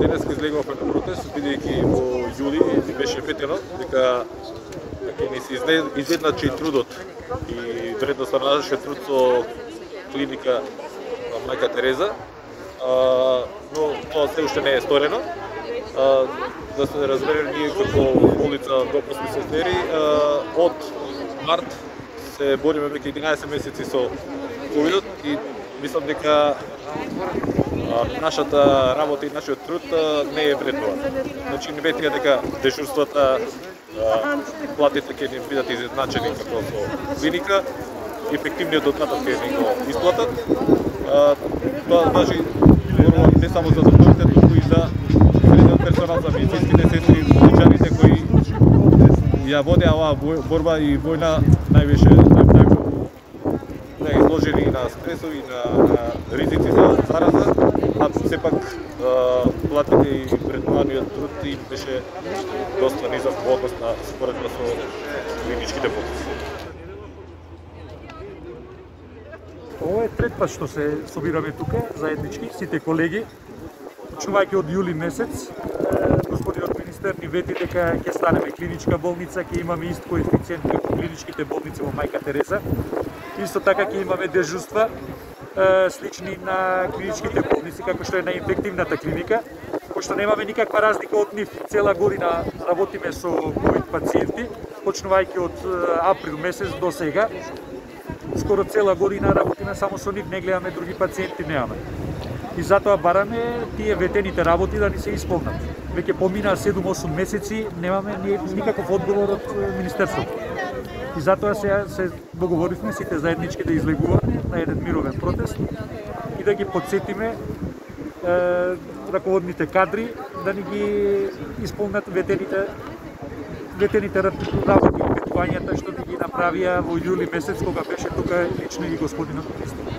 денеска излегувавме на протест, бидејќи во јули ни беше ветено дека ќе ни се изедначи трудот и вредноста на нашиот труд со клиника Мајка Тереза, но тоа се уште не е сторено. Да се разбере, ние како болница допусни сестери од март се бориме веќе 11 месеци со ковидот и мислам дека нашата работа и нашиот труд не е вреднуван. Значи не ветија дека дежурствата, платите ќе ни бидат изедначени како со клиника, ефективниот додаток ќе ни го исплатат. Тоа важи не само за докторите, туку и за персонал, за медицинските сестри, болничарите кои ја водеа оваа борба и војна највише изложени на стресови, на ризици за зараза, а сепак платите и вреднуваниот труд им беше доста низок во однос на споредба со клиничките болници. Ова е трет пат што се собираме тука заеднички, сите колеги. Почнувајќи од јули месец, господинот министер ни вети дека ќе станеме клиничка болница, ќе имаме ист коефициент како клиничките болници во Мајка Тереза. Исто така ќе имаме дежурства слични на клиничките болници, како што е на инфективната клиника, пошто немаме никаква разлика од нив. Цела година работиме со ковид пациенти, почнувајќи од април месец до сега. Скоро цела година работиме само со нив, не гледаме други пациенти, немаме. И затоа бараме тие ветените работи да ни се исполнат. Веќе поминаа 7-8 месеци, немаме никаков одговор од Министерството. И затоа се договоривме сите заеднички да излегуваме на еден мировен протест и да ги подсетиме раководните кадри да ни ги исполнат ветените работи и ветувањата што ни ги направија во јули месец кога беше тука лично и господинот министер.